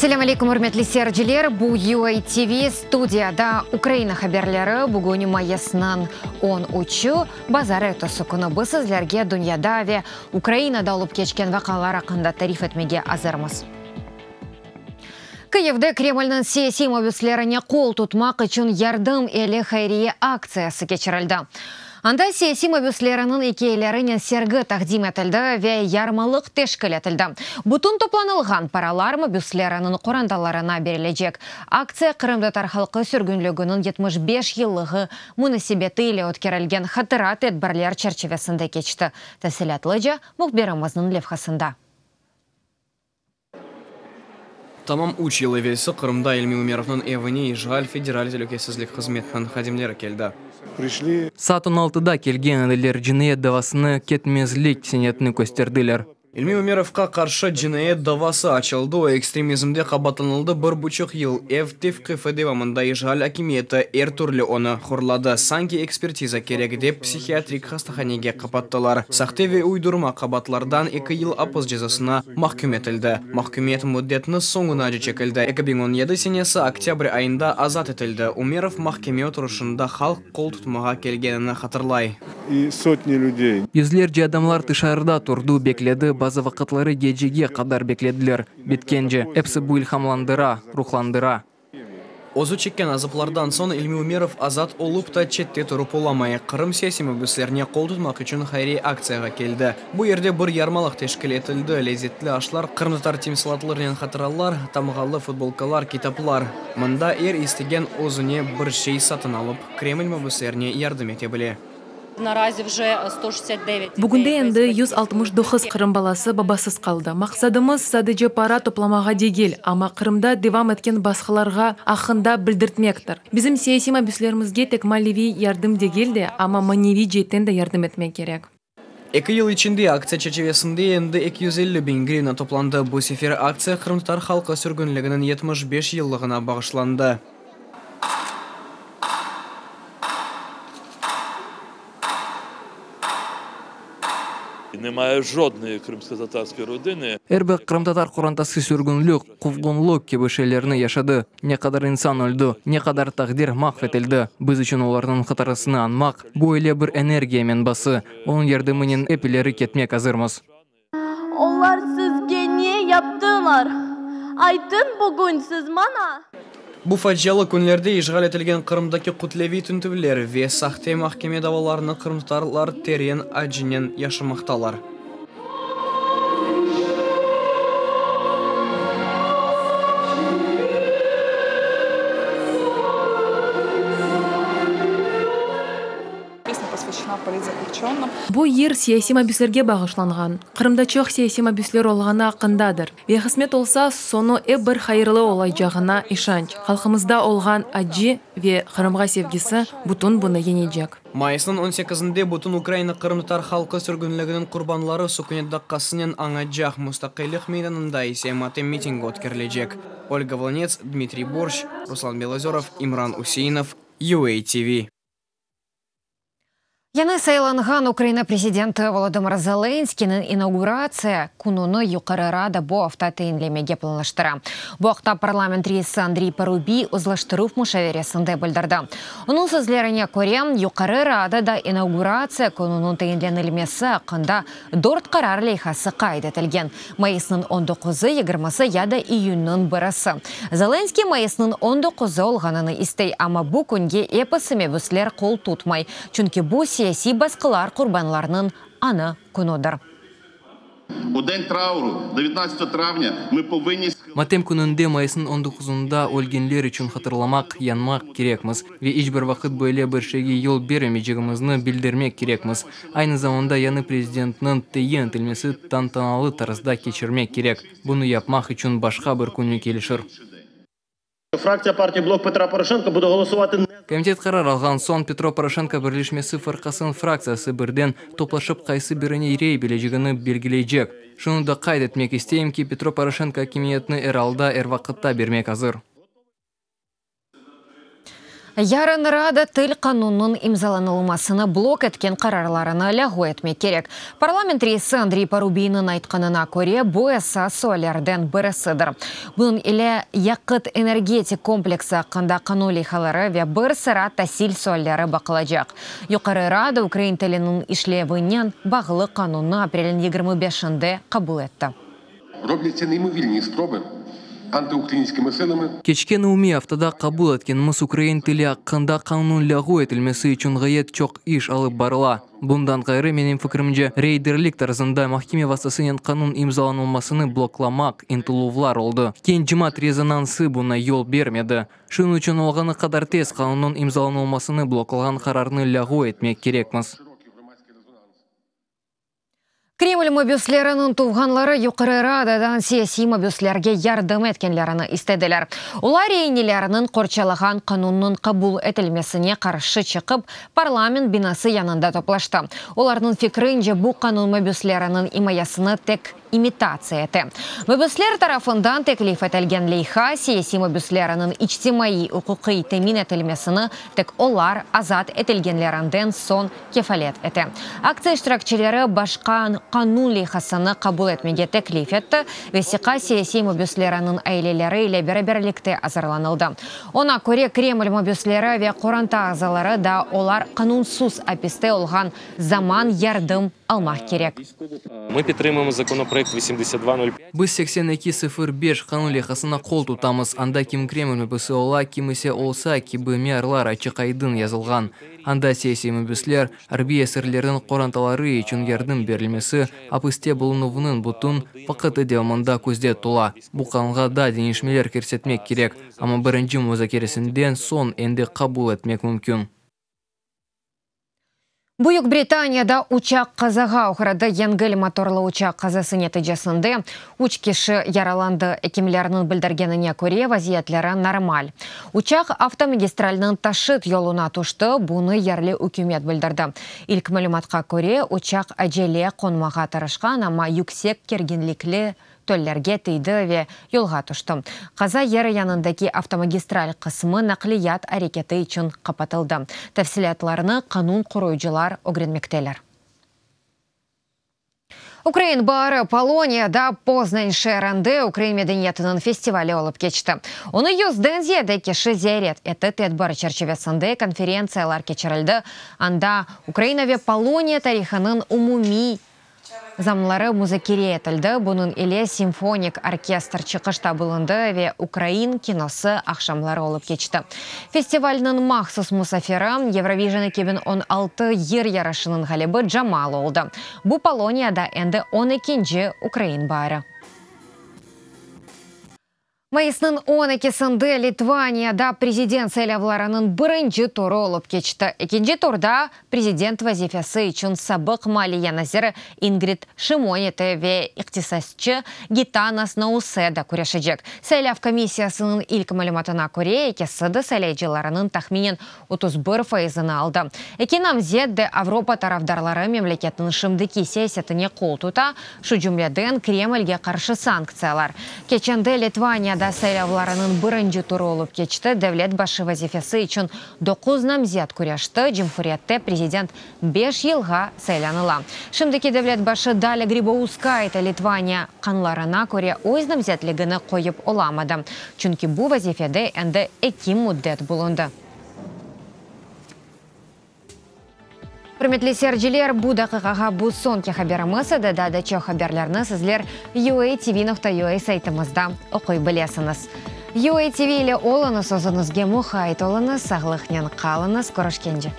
Selâm aleyküm, ürmetli seyirciler! Bu UA TV, studiyada Ukraina haberleri. Bugün mayısnıñ on üçü, bazarertesi künü. Biz sizlerge dünyada ve Ukrainada olıp keçken vaqialar aqqında tarif etmege azırmız. Kıyivde Kremlniñ siyasiy mabüslerine qol tutmaq içün Yardım eli hayriye aktsiyası keçirildi. Anda siyasiy mabüsleriniñ ikâyelerinen sergi taqdim etildi ve yarmalıq teşkil etildi. Bütün toplanılğan paralar mabüsleriniñ qorantalarına berilecek. Aktsiya qırımtatar halqı sürgünliginiñ 75 yıllığı munasebeti ile ötkerilgen hatıra tedbirler çerçivesinde keçti. Tafsilâtlıca mühbirimizniñ levhasında. Tamam üç yıl evelsi Qırımda İlmi Ümerovnıñ evine işğal Federal telükesizlik hızmetiniñ hadimleri keldi. Saat on altıda kelgen ediler, cinayet davasını, ketmezlik senetini kösterdiler. İlmi Ümerovqa qarşı cinayet davası açıldı, o, ekstremizmde qabaatlanıldı, bir buçuq yıl ev tevqifi devamında işğal akimiyeti er türlü onı horladı, sanki ekspertiza kerek dep psihiatrik hastahanege qapattılar. Sahte ve uydurma qabaatlardan eki yıl apis cezasına mahküm etildi. Mahkümiyet müddetini soñunace çekildi. 2017 senesi oktâbr ayında azat etildi. Umerov mahkeme oturışında halq qol tutmağa kelgenini hatırlay. Yüzlerce adamlar tışarıda turdı, bekledi, bazı vaqıtları gecege qadar beklediler. Bitkence. Episi bu ilhamlandıra, ruhlandıra. Özü çekken azaplardan soñ İlmi Ümerov azat olıp ta çette turıp olamay, Qırım siyasiy mabüslerine qol tutmaq içün hayriye aktsiyağa keldi. Bu yerde bir yarmalıq teşkil etildi, lezetli aşlar, qırımtatar timsalatlarınen hatıralar, tamğalı futbolkalar, kitaplar. Mında er istegen özüne bir şey satın alıp, Kreml mabüslerine yardım ete bile. Bugünde endi 169 qırım balası babasız qaldı. Maqsadımız, sadece para toplamağa degil, amma Qırımda devam etken basqılarğa aqqında bildirtmektir. Bizim siyasiy mabüslerimizge tek maliviy yardım degil de, amma maneviy ceetten de yardım etmek kerek. Eki yıl içinde aktsiya çerçivesinde endi 250 biñ grivna toplandı. Bu sefer aktsiya qırımtatar halqı sürgünliginiñ 75 yıllığına bağışlandı. Nemâye jodnoy krımskotatarskoy rodını. Er bir qırımtatar qorantası sürgünlik, quvğunlıq kibi şeylerni yaşadı. Ne qadar insan öldi, ne qadar taqdir mahv etildi. Biz içün olarnıñ hatırasını añmaq, bu öyle bir energiya menbası, onıñ yardımınen ep ileri ketmek azırmız. Olar sizge ne yaptılar? Aytıñ bugün siz maña. Bu facialı künlerde işğal etilgen Qırımdaki kütleviy tintüvler ve sahte mahkeme davalarını qırımtatarlar teren acınen yaşamaqtalar. Bu yır siyasiy mabüslerge bağışlanğan, Qırımda çoq siyasiy mabüsler olğanı aqqındadır ve qısmet olsa, soñu ep bir hayırlı olacağına işanç, halqımızda olğan acı ve Qırımğa sevgisi bütün bunı yeñecek. Mayısnıñ on sekizinde bütün Ukraina qırımtatar halqı sürgünliginiñ qurbanları sükünet daqqasınen añacaq, Mustaqillik meydanında ise matem mitingi ötkerilecek. Olga Volınets, Dmitriy Borşç, Ruslan Belozörov, İmran Üseinov, UA TV. Yañı saylanğan Ukraina prezidenti Volodımır Zelenskiyniñ inauguratsiya kününi Yuqarı Rada bu afta tayinlemege planlaştıra. Bu aqta parlament reisi Andriy Parubiy uzlaştıruv muşaveresinde bildirdi. Onıñ sözlerine köre, Yuqarı Radada inauguratsiya kününiñ tayinlenilmesi aqqında dört qarar leyhası qayd etilgen, mayısnıñ on doquzı, yigirmisi ya da iyünniñ birisi. Zelenskıy mayısnıñ on doquzı olğanını istey, amma bu künge episi mebüsler qol tutmay, çünki bu siyasiy basqılar qurbanlarınıñ añı künüdir. U den trauru, devetnadtsatogo travnâ, mı povınnı Matem kününde, mayısnıñ on doquzında, ölgenler içün hatırlamaq, yanmaq kerekmiz ve iç bir vaqıt böyle bir şeyge yol bermeycegimizni bildirmek kerekmiz. Aynı zamanda yañı prezidentniñ tayin etilmesi tantanalı tarzda keçirmek kerek. Bunı yapmaq içün başqa bir künü kelişir. Fraktsiya partiya Blok Petra Poroşenko bude ğolosuvatı ne. Komitet qarar alğan soñ, Petro Poroşenko birleşmesi fırqasınıñ fraktsiyası birden toplaşıp qaysı birine rey berecegini belgileycek. Şunı da qayd etmek isteyim ki, Petro Poroşenko akimiyetni er alda, er vaqıtta bermek azır. Yarın Rada til qanunnıñ imzalanılmasını blok etken qararlarını lâğu etmek kerek. Parlament reisi Andriy Parubiyniñ aytqanına köre, bu esas suallerden birisidir. Bunıñ ile yaqıt-energetik kompleksi aqqında qanun leyhaları ve bir sıra tasil sualleri baqılacaq. Yuqarı Rada ukrain tiliniñ işlevinen bağlı qanunnı aprelniñ 25-inde qabul etti. Roblâtsâ neymovirni sprobi antiukrainskimi silami. Keçken umumiy aftada qabul etkenimiz Ukrain tili aqqında qanunnıñ lâğu etilmesi içün ğayet çoq iş alıp barıla. Bundan ğayrı, menim fikrimce, reyderlik tarzında mahkeme vastasınen qanun imzalanılmasını bloklamaq ıntıluvlar oldı. Keñ cemaat rezonansı buña yol bermedi. Şunıñ içün olğanı qadar tez qanunnıñ imzalanılmasını bloklağan qararnı lâğu etmek kerekmiz. Kreml mabüsleriniñ tuvğanları Yuqarı Radadan siyasiy mabüslerge yardım etkenlerini istediler. Olar reineleriniñ qorçalağan qanunnıñ qabul etilmesine qarşı çıqıp, parlament binası yanında toplaştı. Olarnıñ fikrince, bu qanun mabüsleriniñ imayesini tek imitatsiya ete. Mabüsler tarafından teklif etilgen leyha, siyasiy mabüsleriniñ içtimaiy-uquqiy temin etilmesini tek olar azat etilgenlerinden soñ kefalet ete. Aktsiya iştirakçileri başqa qanun leyhasını qabul etmege teklif etti, vesiqa siyasiy mabüsleriniñ aileleri ile beraberlikte azırlanıldı. Oña köre, Kreml mabüsleri ve qoranta azaları da olar qanunsız apiste olğan zaman yardım almaq kerek. Biz 82 05 qanun leyhasına qol tutamız, anda kim Kreml mabüsi ola, kim ise olsa kibi miyarlar açıq-aydın yazılğan. Anda siyasiy mabüsler, arbiy esirlerniñ qorantaları içün yardım berilmesi apiste bulunuvnıñ bütün vaqıtı devamında közde tutula. Bu qanunğa daa deñişmeler kirsetmek kerek, amma birinci muzakeresinden soñ endi qabul etmek mümkün. Büyük Britaniyada uçaq qazağa oğradı. Yengil motorlı uçaq qazası neticesinde üç kişi yaralandı. Ekimlerniñ bildirgenine köre, vaziyetleri normal. Uçaq avtomagistralnıñ taşıt yoluna tüşti, bunı yerli ükümet bildirdi. İlk malümatqa köre, uçaq acele qonmağa tırışqan, amma yüksek kerginlikli töllerge tiydi ve yolğa tüşti. Qaza yeri yanındaki avtomagistral qısmı naqliyat areketi içün qapatıldı. Tafsilâtlarnı qanun qoruyıcılar ögrenmekteler. Ukrain baari Poloniyada Poznañ şeerinde ukrain medeniyetiniñ festivali olıp keçti. Onı yüzden ziyade kişi ziyaret etti. Tedbir çerçivesinde konferentsiyalar keçirildi, anda Ukraina ve Poloniya tarihınıñ umumiy zamları muzakere etildi, bunıñ ile simfonik orkestr çıqışta bulundı ve ukrain kinosı aqşamları olıp keçti. Festivalniñ mahsus musafiri, Eurovision 2016 yır yarışınıñ ğalibi Jamala oldı. Bu Poloniyada endi on ekinci ukrain baari. Mayısnıñ on ekisinde Litvaniyada prezident saylavlarınıñ birinci turı olıp keçti. Ekinci turda prezident vazifesi içün sabıq maliye naziri İngrid Şimonite ve iqtisatçı Gitanas Nauseda küreşecek. Saylav komissiyasınıñ ilk malümatına köre, ekisi de saylayıcılarınıñ tahminen 31 fayızını aldı. Eki namzet de Avropa tarafdarları memleketniñ şimdiki siyasetine qol tuta, şu cümleden Kremlge qarşı sanktsiyalar. Keçende Litvaniyada saylavlarınıñ birinci turı olıp keçti, devlet başı vazifesi içün doquz namzet küreşti, cumhuriyette prezident beş yılğa saylanıla. Şimdiki devlet başı Dalia Gribauskaite Litvaniya qanlarına köre öz namzetligini qoyıp olamadı, çünki bu vazifede endi eki müddet bulundı. Ürmetli seyirciler, bu daqiqağa bu soñki haberimiz edi. Daa da çoq haberlerni sizler uatv.ua saytımızda oquy bilesiñiz. UATV ile oluñız, özüñizge muqayt oluñız, sağlıqnen qalıñız, körüşkence.